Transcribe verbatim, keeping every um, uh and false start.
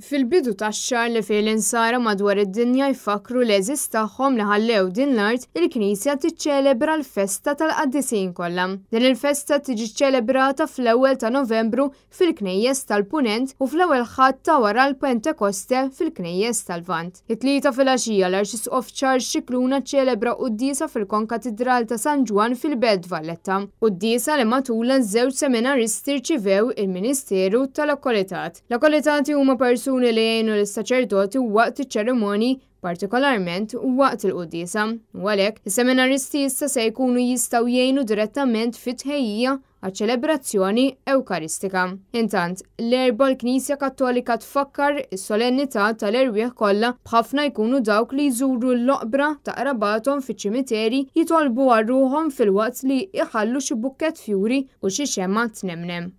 Fil-bidu tax-xahar li fih l-insara madwar id-dinja jfakru l-għeżież tagħhom li ħallew din l-art, il-Knisja tiċċelebra l-festa tal-qaddisin kollha. Din il-festa tiġi ċċelebrata fl-ewwel ta' Novembru fil-knejjes tal-Punent u fl-ewwel Ħadd ta' wara l-Pentekoste fil-knejjes tal-Lvant. It-Tlieta filgħaxija l-Arċisqof Charles Scicluna ċċelebra quddiesa fil-Konkatidral ta' San Ġwann fil-Belt Valletta. Quddiesa li matulha żewġ seminaristi rċivew il-Ministeru tal-Akkolitat. L-akkolitati huma persuni li jgħinu lis-saċerdoti waqt iċ-ċerimonji, partikolarment waqt il-quddiesa. U għalhekk, is-seminaristi issa se jkunu jistgħu jgħinu direttament fit-tħejjija għaċ-ċelebrazzjoni Ewkaristika. Intant, l-Erbgħa l-Knisja Kattolika tfakkar is-solennità tal-erwieħ kollha, b'ħafna jkunu dawk li jżuru l-oqbra ta' qrabathom fiċ-ċimiteri jitolbu għal ruħhom filwaqt li jħallu xi bukkett fjuri u xi xemgħa tnemnem.